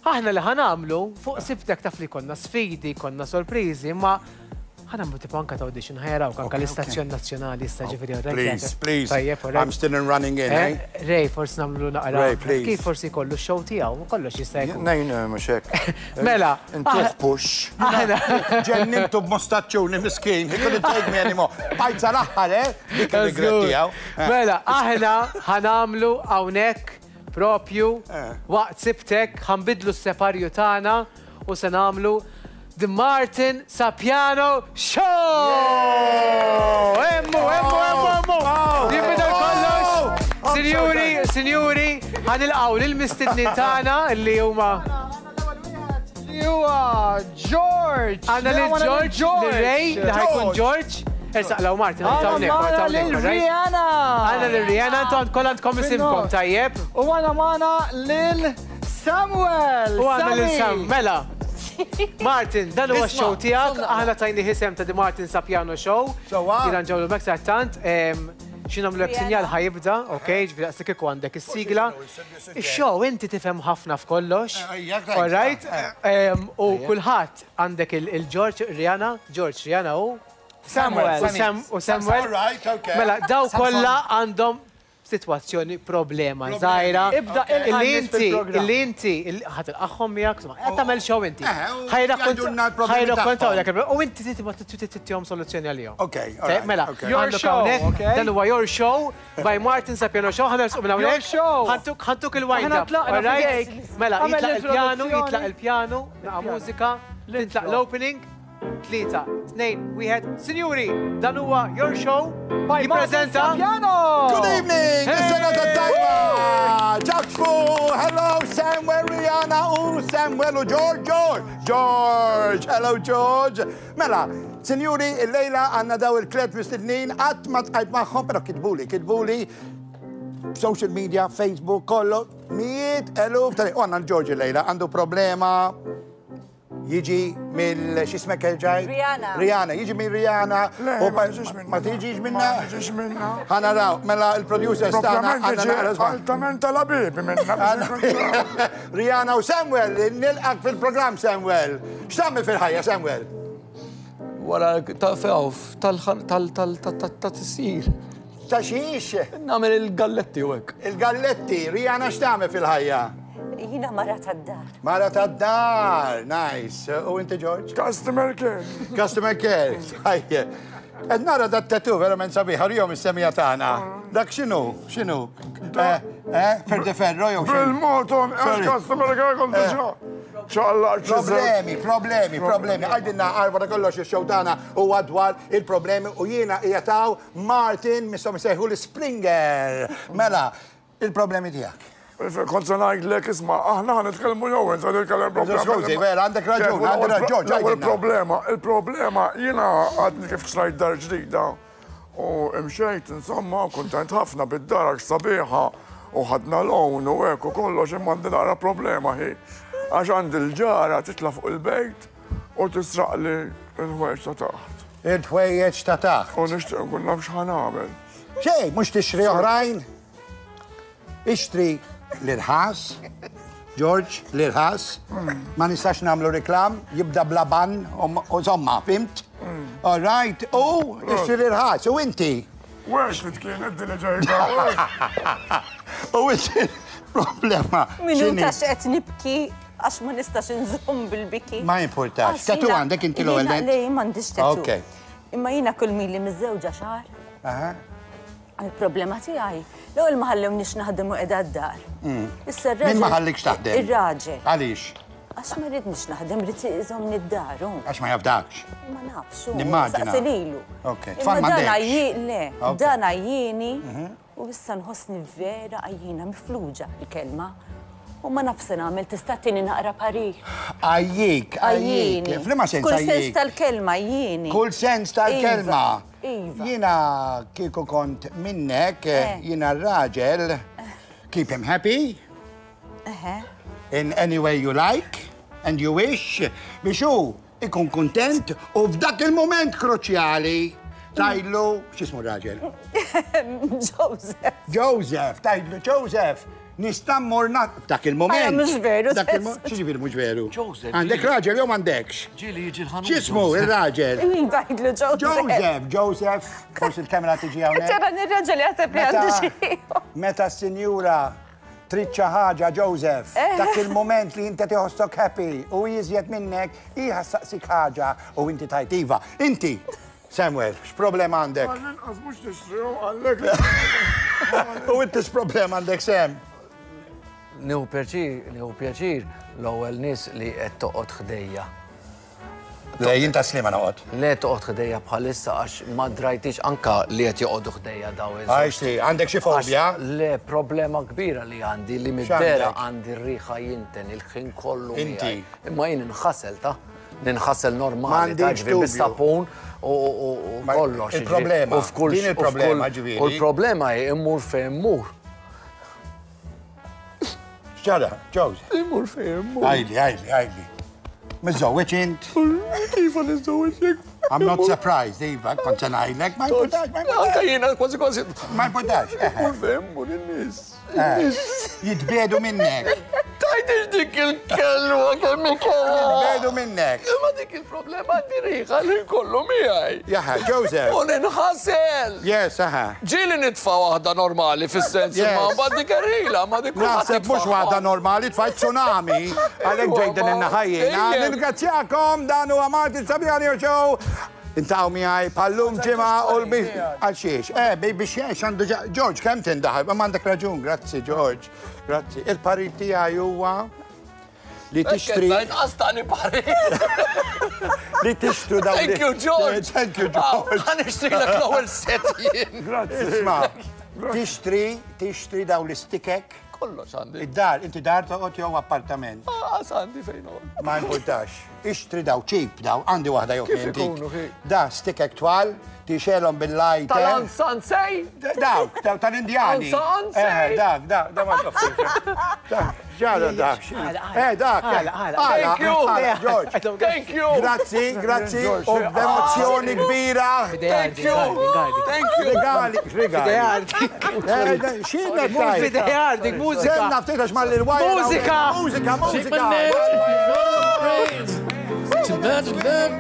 Aħna li ħa nagħmlu fuq Sibtek taf li jkollna sfidi, jkollna sorpriżi, imma ħa nagħmlu tipo anka ta' audition, ħa jarawk anka l-istazzjon nazzjonali issa ġifieri oh, Please, please. Tajjeb, I'm still in running in, eh? eh? Ray, forsi nagħmlu naqra. Ray, please. Kif forsi jkollu x-show tiegħu, kollox jista' jkun. Nejn, eh, mhux hekk. Mela. Intuh ah, push. Aħna. Ġennintu b'mostaċċuni miskin, he couldn't take me anymore. Bajt sal-aħħar, eh? Dik il-regret tiegħu. Eh. Mela, aħna ħa nagħmlu hawnhekk Propju waqt Sibtek ħa nbiddlu s-separju tagħna u se nagħmlu The Martin Sapiano Show! Hemmu, hemmu, hemmu, hemmu! Jinbidel kollox! Sinjuri, sinjuri, ħa nilqgħu lill-mistednin tagħna li huma Li huwa George! Għandna lil George, lil Ray, li ħajkun George. Ersaq law Martin, għandna magħna lil Rihanna! Għandna lil Rihanna, intom kollha għandkom isimkom, tajjeb? U għandna magħna lil Samuel! U għandna lil Sam, mela. Martin, dan huwa x-show tiegħek, aħna tajni isem ta' The Martin Sapiano Show. Jiena nġawlu mek tant, xi nagħmlulek sinjal ħa jibda, ok, ġifieri daqs li kieku għandek is-sigla. Ix-show inti tifhem ħafna f'kollox. All right? U kulħadd għandek il-George, Rihanna, George, Rihanna u Samuel. U Samuel. Mela, daw kollha għandhom sitwazzjoni problema żgħira. Ibda illi inti, illi inti, ħa tilqagħhom miegħek, insomma, qed tagħmel show inti. Ħajrakkontawlek u inti trid tagħtihom soluzzjoni għalihom. Mela, your show, dan huwa your show. By Martin Sapiano Show, ħa nersqu minn hawnhekk. Your show. Ħantuk ħantuk il-wind Aħna up. tlaqna all right? f'idejk. Mela, Għamel jitlaq il-pjanu, l-introduzzjoni. jitlaq il-pjanu, naqa' mużika, tintlaq l-opening. Tlieta, tnejn, wieħed. Sinjuri, dan huwa Your Show. By Martin Jippreżenta Sapiano! Good evening, is-sena tat-tajba! Ġakfu, hello Samuel, Rihanna u Samuel u George, George, George, hello George. Mela, sinjuri, illejla għandna daw il-tlet mistednin, qatt ma tqajt magħhom, però kitbuli, kitbuli social media, Facebook, kollu, mijiet eluf ta' u għandna l-Ġorġi lejla, għandu problema jiġi mill x'ismek erġaj? Rihanna. Rihanna, jiġi minn Rihanna. Le, u ma tiġix minna. Ma tiġix minna? Ma tiġix minna. Ħa naraw, mela il-producers tagħna Propjament għandna tiġi naqra żball. altament tal-abibi minna. biex nkun ċar. Rihanna u Samuel, nilqak fil-programm Samuel. X'tagħmel fil-ħajja Samuel? Wara ta' fewf tal-tisir. Ta' xiex? Nagħmel il-galletti u hekk. Il-galletti, Rihanna x'tagħmel fil-ħajja? Jiena mara tad-dar. Mara tad-dar, nice. U inti George? Customer care. Customer care, tajjeb. Qed nara dat tattoo verament sabiħ, ħarihom is-semija tagħna. Dak x'inhu? X'inhu? Eh, eh, Ferde Ferro jew x'inhu? Bil-moton, Sorry. customer care kont diġà. Ċaqlaq Problemi, problemi, problemi. Għajdilna għarfa ta' kollox ix-show tagħna huwa dwar il-problemi u jiena qiegħed Martin misshom isejħu l-Springer. Mela, il-problemi tiegħek. Kont se ngħidlek isma' aħna ħa nitkellmu jew int ħa titkellem problema. Skużi, vera, għandek raġun, għandek raġun, George, L-ewwel għidilna. problema, il-problema jiena għadni kif xtrajt dar ġdida u imxejt insomma kuntent ħafna bid-dar għax sabiħa u ħadna loan u hekk u kollox imma għandi naqra problema hi. Għax għandi l-ġara titla' fuq il-bejt u tisraqli l-ħwejjeġ ta' taħt. Il-ħwejjeġ ta' taħt. U nixtieq nkun naf x'ħa nagħmel. Xejn, mhux tixtri oħrajn? Ixtri l-irħas, George, l-irħas, ma nistax nagħmlu reklam, jibda bla ban, u somma, fimt? All right, u ixtri l-irħas, u inti. Wex li kienet din li ġejta. U inti problema. Minuta x'qed nibki għax ma nistax inżomm bil-biki. Ma jimpurtax. Tatu għandek inti l-ewwel nett? Le, m'għandix tatu. Ok. Imma jiena kull mili miżżewġa xahar. Aha. Il-problema tiegħi, l-ewwel ma ħallewniex naħdem u qiegħda d-dar. Mm. Issa r-raġel. Min ma ħallikx taħdem? Ir-raġel. Għaliex? Għax ma rridniex naħdem, rrid iżommni d-dar. Għax ma jafdakx. Ma nafx. Nimmaġina. Saqsi lilu. Ok. Tfal m'għandekx. Le, dan għajjieni mhm. u issa nħossni vera għajjina mifluġa il-kelma. U ma nafx se nagħmel, tista' tini naqra parir. Għajjik, għajjik. F'liema sens Kull sens tal-kelma għajjieni. Kull sens tal-kelma. Iva. Jiena kieku kont minnek, jiena r-raġel, keep him happy. In any way you like and you wish, biex hu ikun kuntent u f'dak il-moment kruċjali tgħidlu, x'ismu r-raġel? Joseph. Joseph, tgħidlu Joseph. Nista' mmur dak il-mument. Mhux veru. Dak il-mument. X'jiġifieri mhux veru? Joseph. Għandek raġel jew m'għandekx? Ġieli jiġi l-ħanut. X'ismu ir-raġel? Iva, jgħidlu Joseph. Joseph, Joseph, forsi l-kamera tiġi hawnhekk. Ċara nir-raġel jaħseb li għandu xi. Meta s-sinjura trid xi ħaġa Joseph, dak il-mument li inti tiħossok happy u jiżjed minnek, hi ħassaqsik ħaġa u inti tajt iva. Inti, Samuel, x'problema għandek? Għall-inqas mhux nixtrihom għallek. U inti x'problema għandek Sam? Nieħu pjaċir, nieħu pjaċir l-ewwel nies li qed toqgħod ħdejja. Le, jien ta' Sliema noqgħod. Le toqgħod ħdejja bħalissa għax ma drajtix anka li qed joqogħdu ħdejja daw iż. Għajxti, għandek xi fobja? Le, problema kbira li għandi li mid-dera għandi r-riħa jinten il-ħin kollu. Inti. Imma jien inħasel ta' ninħasel normali ta' ġifieri bis-sapun u kollox. Il-problema. Din il-problema ġifieri. U l-problema hi immur fejn immur. X'ġara, Jose? Immur fejn immur. Għajli, għajli, għajli. Miżżewweġ int? Iva niżżewweġ jekk. I'm not surprised, Iva, kont se ngħidlek, ma importax, ma importax. Anka jiena kważi kważi. Ma importax. Immur fejn immur in-nies. Jitbiedu minnek. Tajdix dik il-kelma kemm ikella. Jitbiedu minnek. Imma dik il-problema għandi riħa li kollu miegħi. Jaha, Joseph. U ninħasel. Yes, aha. Ġieli nitfa' waħda normali fis-sens imma mbagħad dik erila, ma dik kulħadd Naħseb mhux waħda normali, tfajt tsunami. Għalhekk ġejt din in-naħa jiena. Nirringrazzjakom dan huwa Martin Sabiani Show. Intaw miegħi pallum ġimgħa u l għal xiex. Eh, biex xiex għandu George kemm tindaħal, ma għandek raġun, grazzi George. Grazzi. Il-parir tiegħi huwa li tixtri. Għastani parir. Li tixtru dawn. Thank you, George. Thank you, George. Għan nixtrilek l-ewwel set jien. Grazzi. Isma, tixtri, tixtri dawn l-istikek. Kollox għandi. Id-dar, inti dar toqgħod jew appartament. Għas għandi fejn noqgħod. Ma importax. Ixtri daw cheap daw, għandi waħda jew Kif intik. ikunu, hi? Da stikek twal, tixelhom bil-lighter. Tal-ansansej? Dawk, dawk tal-Indjani. Ansa, ansa. Eh, dak, dak, dak ma tafx. Dak, ġara dak. Eh, dak. Għala, għala. Thank you. Għala, George. Thank you. Grazzi, grazzi. U b'emozzjoni kbira. Thank you. Thank you. Regali, regali. Eh, Xina tajt. Fidejardik, mużika. Senna ftit għax mal-wajra. Mużika. Mużika, mużika. Too much love,